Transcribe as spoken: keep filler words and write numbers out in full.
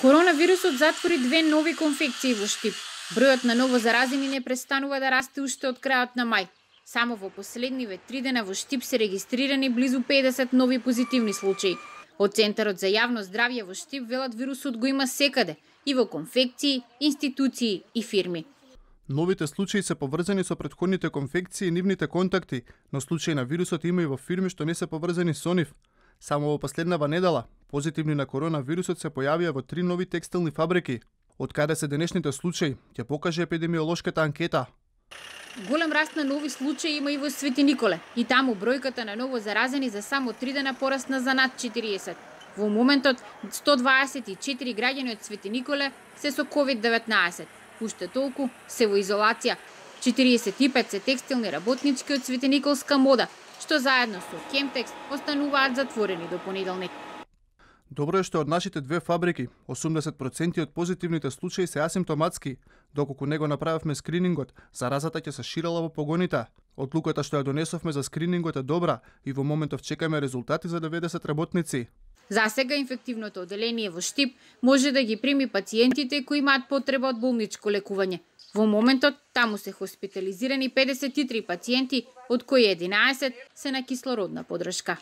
Коронавирусот затвори две нови конфекции во Штип. Бројот на ново заразени не престанува да расте уште од крајот на мај. Само во последниве три дена во Штип се регистрирани близу педесет нови позитивни случаи. Од Центарот за јавно здравје во Штип велат вирусот го има секаде, и во конфекции, институции и фирми. Новите случаи се поврзани со претходните конфекции и нивните контакти, но случаи на вирусот има и во фирми што не се поврзани со нив. Само во последнава недела, позитивни на коронавирусот се појавија во три нови текстилни фабрики. Од каде се денешните случаи, ќе покаже епидемиолошката анкета. Голем раст на нови случаи има и во Свети Николе. И таму бројката на ново заразени за само три дена порасна за над четириесет. Во моментот сто дваесет и четири граѓани од Свети Николе се со ковид деветнаесет. Уште толку се во изолација. четириесет и пет се текстилни работнички од Светениколска мода, што заедно со Кемтекс остануваат затворени до понеделник. Добро е што од нашите две фабрики, осумдесет проценти од позитивните случаи се асимптоматски. Доколку не го направивме скринингот, заразата ќе се ширела во погоните. Одлуката што ја донесовме за скринингот е добра и во моментов чекаме резултати за деветдесет работници. За сега инфективното одделение во Штип може да ги прими пациентите кои имаат потреба од болничко лекување. Во моментот таму се хоспитализирани педесет и три пациенти, од кои единаесет се на кислородна поддршка.